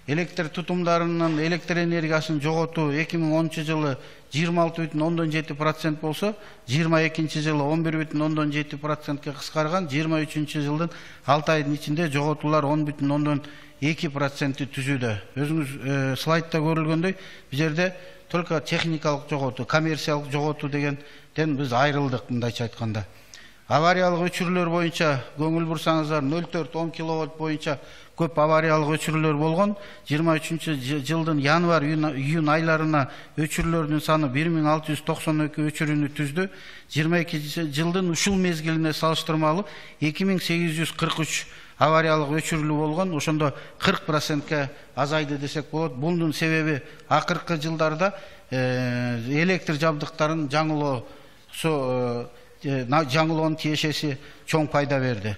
электр тутумдарынын электр энергиясын жоготуу 2010-жылы 26,7% болсо, 22-жылы 11,7%ке кыскарган, 23-жылдын 6 айдын ичинде жоготуулар 10,2%ти түзүүдө. Өзүңүз слайдта көрүлгөндөй, бул жерде только техникалык жоготуу, коммерциялык жоготуу дегенден биз айрылдык, мындайча айтканда. Авариялык өчүрүүлөр боюнча көңүл бурсаңыздар, 0,4-10 киловатт боюнча көп авариялык өчүрүүлөр болгон. 23-жылдын январь-июнь айларына өчүрүүлөрдүн саны 1692 өчүрүүнү түздү. 22-жылдын ушул мезгилине салыштырмалуу 2843 авариялык өчүрүүлүү болгон. Ошондо 40%ке азайды десек болот. Бундун себеби акыркы жылдарда электр жабдыктарын жаңылоонун тиешеси чоң пайда берди.